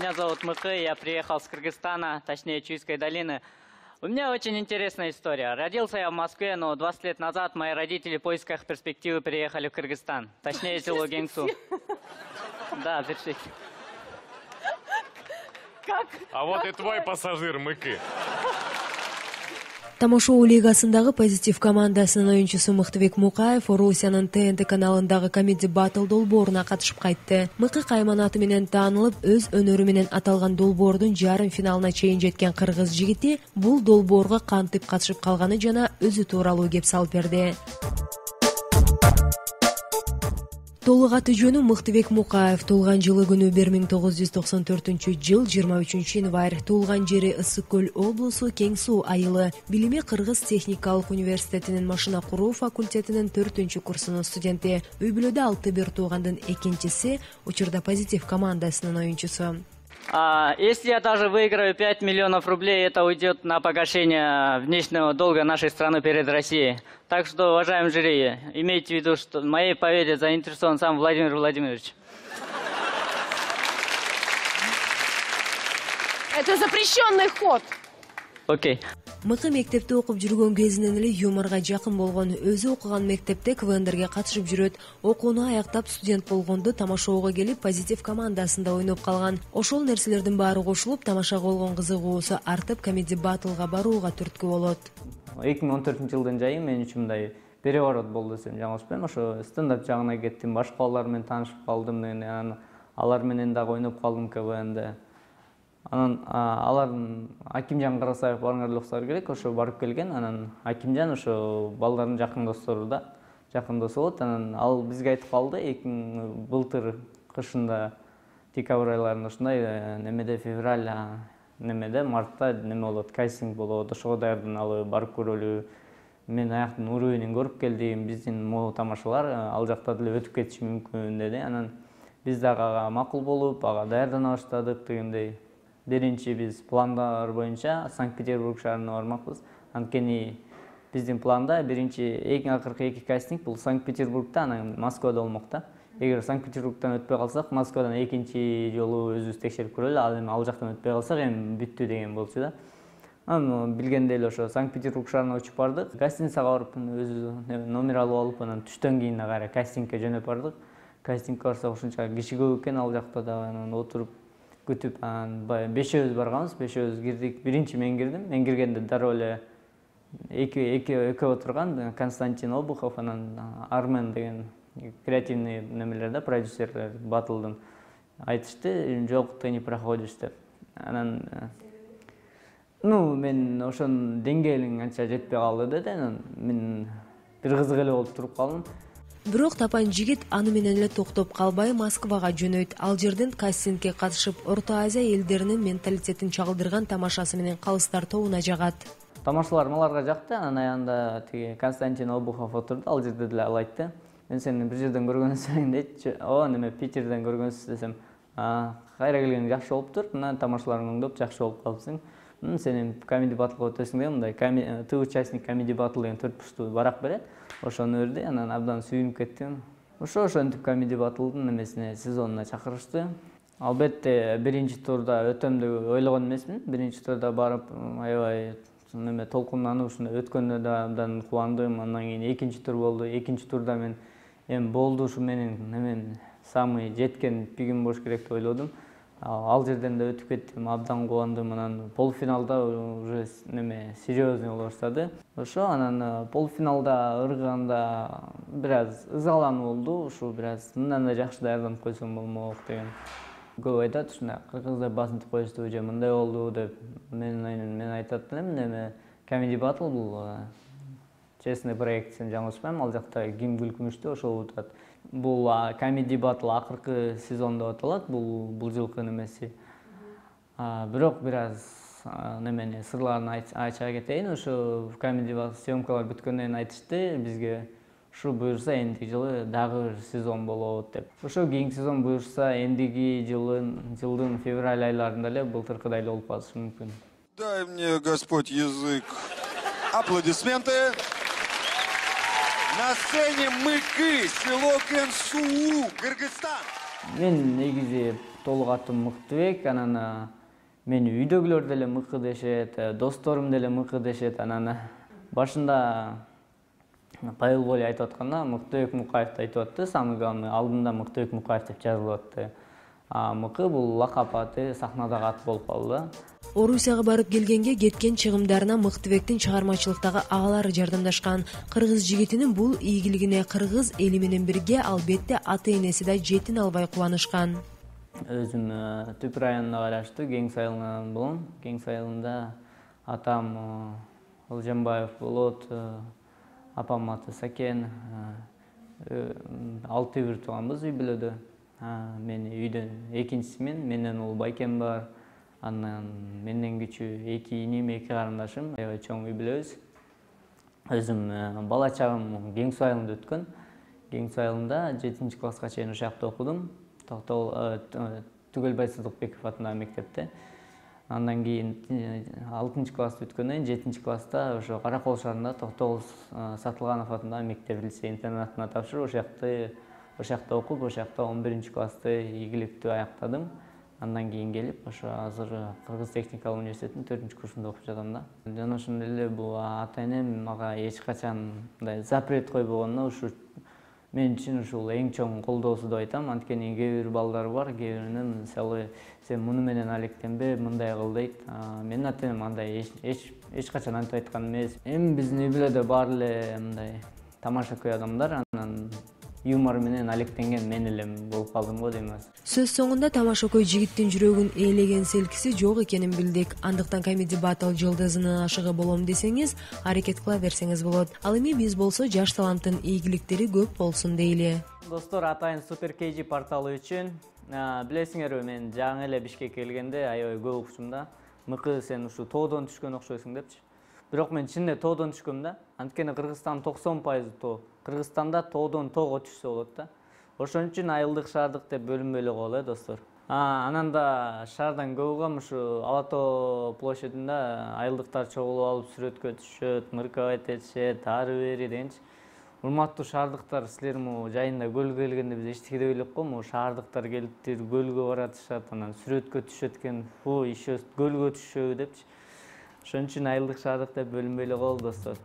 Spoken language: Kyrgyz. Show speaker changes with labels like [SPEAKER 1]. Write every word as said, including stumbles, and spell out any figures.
[SPEAKER 1] Меня зовут Мыкы, я приехал с Кыргызстана, точнее Чуйской долины. У меня очень интересная история. Родился я в Москве, но двадцать лет назад мои родители в поисках перспективы переехали в Кыргызстан, точнее село Геңсу. Да, перспектива.
[SPEAKER 2] Как?
[SPEAKER 3] А вот и твой пассажир, Мыкы.
[SPEAKER 4] Тамошоо лигасындагы позитив командасынын оюнчусу Мыктыбек Мукаев Орусиянын ТНТ каналындагы комеди батл долбооруна катышып кайтты. Мыкы кайман аты менен таанылып, өз өнөрү менен аталган долбоордун жарым финалына чейин жеткен кыргыз жигити бул долбоорго кантип катышып калганы жана өзү тууралуу кеп салып берди. Толук аты жөнү Мыктыбек Мукаев. Туулган жылы күнү бир миң тогуз жүз токсон төртүнчү жыл жыйырма үчүнчү январь. Туулган жери Ысык көл облусу Кең Суу айылы. Билими Кыргыз техникалык университетинин машина куруу факультетинин төртүнчү курсунун студенти. Үй бүлөдө алты бир туугандын экинчиси, учурда позитив командасынын оюнчусу.
[SPEAKER 1] А, если я даже выиграю пять миллионов рублей, это уйдет на погашение внешнего долга нашей страны перед Россией. Так что, уважаемые жюри, имейте в виду, что в моей победе заинтересован сам Владимир Владимирович.
[SPEAKER 2] Это запрещенный ход.
[SPEAKER 1] Окей.
[SPEAKER 4] Мыкы мектепте окуп жүргөн кезинен эле юморго жакын болгон. Өзү окуган мектепте КВНдерге катышып жүрөт. Окууну аяктап студент болгондо тамашоого келип, позитив командасында ойноп калган. Ошол нерселердин баары кошулуп, тамашага болгон кызыгуусу артып, комеди батлга барууга түрткү болот.
[SPEAKER 5] эки миң он төртүнчү жылдын жайы мен үчүн мындай переворот болду десем жаңылышпайм. Ошо стендап жагына кеттим, башка балдар менен таанышып калдым, алар менен дагы ойноп калдым КВНде. Анан алардын Акимжан Карасаев барыңар уксар керек, ошо барып келген. Анан Акимжан ошо балдардын жакын достору да, жакын досу болот. Анан ал бизге айтып калды, эки миң былтыр кышында декабрь айларында ушундай немеде февраль немеде мартта неме болот, кастинг болот. Ошого даярданалы, барып көрөлү. Мен аяктын уровенин көрүп келдим. Биздин могу тамашалар ал жакта деле өтүп кетиши мүмкүн деди. Анан биз дагы ага макул болуп, ага даярдана баштадык дегендей. Биринчи биз пландар боюнча Санкт-Петербург шаарына бармакпыз. Анткени биздин планда биринчи эң акыркы эки кастинг бул Санкт-Петербургда, анан Москвада болмок да. Эгер Санкт-Петербургдан өтпөй калсак, Москвадан экинчи жолу өзүбүз текшерип көрөлү. Ал эми ал жактан өтпөй калсак, эми бүттү деген болчу да. Анан билгендей эле ошо Санкт-Петербург шаарына учуп бардык. Гостиницага барып, өзү номер алып алып, анан түштөн кийин кайра кастингге жөнөп бардык. Кастингге барсак ушунча киши көп экен ал жакта да, анан отуруп күтүп, баягы бешөөбүз барганбыз, бешөөбүз кирдик. Биринчи мен кирдим. Мен киргенде дароо эле эки эки экөө отурган Константин Обухов, анан Армен деген креативный немелер да, продюсерлер батылдын айтышты, жок, ты не проходишь деп. Анан ну мен ошонун деңгээлиң анча жетпей калды деди. Анан мен бир кызык эле болуп туруп калдым.
[SPEAKER 4] Бирок тапан жигит аны менен эле токтоп калбай Москвага жөнөйт. Ал жерден кастингге катышып, Орто Азия элдеринин менталитетин чагылдырган тамашасы менен калыстар тобуна жагат.
[SPEAKER 5] Тамашалар маларга жакты. Анан аягында тиги Константин Обухов отурду. Ал жерде деле ал айтты: "Мен сени бир жерден көргөнсүң" дейт. "О, неме Питерден көргөнсүз" десем, "А, кайра келгениң жакшы болуптур. Мына тамашаларың оңдоп жакшы болуп калыпсың. Сен комеди батлга өтөсүң" деп, мындай ты участник комеди батл деген төрт бурчтуу барак берет. Ошону берди. Анан абдан сүйүнүп кеттим. Ошо ошентип комеди батлдын немесине, сезонуна чакырышты. Албетте биринчи турда өтөм деп ойлогон эмесмин. Биринчи турда барып, аябай неме толкунданып ушундай өткөндө да абдан кубандым. Андан кийин экинчи тур болду. Экинчи турда мен эми болду, ушу менин немен самый жеткен пигим болуш керек деп ойлодум. Ал жерден да өтүп кеттим, абдан кубандым. Анан полуфиналда уже неме серьезный боло баштады. Ошо анан полуфиналда ыргыганда бир аз ызалануу болду. Ушу бир аз мындан да жакшы даярданып койсом болмок деген. Көп айтат, ушундай кыргыздар басынтып коюшту же мындай болду деп. Мен мен айтат элем, неме комеди батл бул честный проект, сен жаңылышпайм. Ал жакта ким күлкүнүштү ошол утат. Бул комеди батл акыркы сезон деп аталат. Бул бул жылкы немеси. Бирок бир аз немени сырларын ача кетейин. Ошо комеди батл съемкалар бүткөндөн кийин айтышты бизге, ушу буюрса эндиги жылы дагы бир сезон болот деп. Ошо кийинки сезон буюрса эндиги жылдын жылдын февраль айларында эле былтыркыдай эле болуп калышы мүмкүн.
[SPEAKER 6] Дай мне, Господь, язык. Аплодисменты. На сцене Мыкы, село Кенсуу, Кыргызстан.
[SPEAKER 5] Мен негизи толук атым Мыктыбек, анан мени үйдөгүлөр деле Мыкы дешет, досторум деле Мыкы дешет. Анан башында Павел Воля айтып атканда Мыктыбек Мукаевди айтып атты, самый главный алдында Мыктыбек Мукаев деп жазылып атты. А Мыкы бул лакап аты, сахнадагы ат болуп калды да.
[SPEAKER 4] Орусияга барып келгенге кеткен чыгымдарына Мыктыбектин чыгармачылыктагы агалары жардамдашкан. Кыргыз жигитинин бул ийгилигине кыргыз эли менен бирге албетте ата-энеси да жетин албай кубанышкан.
[SPEAKER 5] Өзүм Түп районуна караштуу Кең Сайылынан болом. Кең Сайылында атам Ылжанбаев болот, апам аты Сакен. Алты бир тууганбыз үй бүлөдө. Мен үйдөн экинчисимен, менден улуу байкем бар. Андан менден кичүү эки иним, эки карындашым, аябай чоң үй бүлөбүз. Өзүм бала чагым Кең Сайылында өткөн. Кең Сайылында жетинчи класска чейин ошакта окудум. Токтогул Түгөлбай Сыдыкбеков атындагы мектепте. Андан кийин алтынчы класста өткөндөн кийин жетинчи класста ошо Каракол шаарында Токтогул Сатылганов атындагы мектеп лицей интернатына тапшырып, ошакты ошакта окуп, ошакта он биринчи классты ийгиликтүү аяктадым. Андан кийин келип, ошо азыр Кыргыз техникалык университетинин төртүнчү курсунда окуп жатам да. Жана ошондой эле бул ата-энем мага эч качан мындай запрет койбогондо ушу мен үчүн ушул эң чоң колдоосу деп айтам. Анткени кээ бир балдар бар, кээ биринин мисалы сен муну менен алектенбе, мындай кыл дейт. Менин ата-энем андай эч эч качан антип айткан эмес. Эми биздин үй бүлөдө баары эле мындай тамашакөй адамдар, анан юмор менен алектенген мен элем болуп калдым го дейм.
[SPEAKER 4] Сөз соңунда тамашакөй жигиттин жүрөгүн ээлеген селкиси жок экенин билдик. Андыктан Comedy Battle жылдызынын ашыгы болом десеңиз, аракет кыла берсеңиз болот. Ал эми биз болсо жаш таланттын ийгиликтери көп болсун дейли.
[SPEAKER 5] Достор, атайын Супер Кей Жи порталы үчүн билесиңерби, мен жаңы эле Бишкекке келгенде аябай көп укчумун да. Мыкы, сен ушу тоодон түшкөн окшойсуң депчи. Бирок мен чынында тоодон түшкөм да. Анткени Кыргызстан токсон пайыз тоо. Кыргызстанда тоодон тоого түшсө болот да. Ошон үчүн айылдык, шаардык деп бөлүнбөй эле коелу, достор. Анан да шаардан көп угам, ушу Ала Тоо площадында айылдыктар чогулуп алып сүрөткө түшөт, мыркабайт этишет, ары бери дегенчи. Урматтуу шаардыктар, силер могу жайында көлгө келгенде биз эчтеке деп элек го, могу шаардыктар келиптир, көлгө баратышат, анан сүрөткө түшөт экен, фу, ишөө көлгө түшөбү депчи. Ошон үчүн айылдык, шаардык деп бөлүнбөй эле коелу, достор.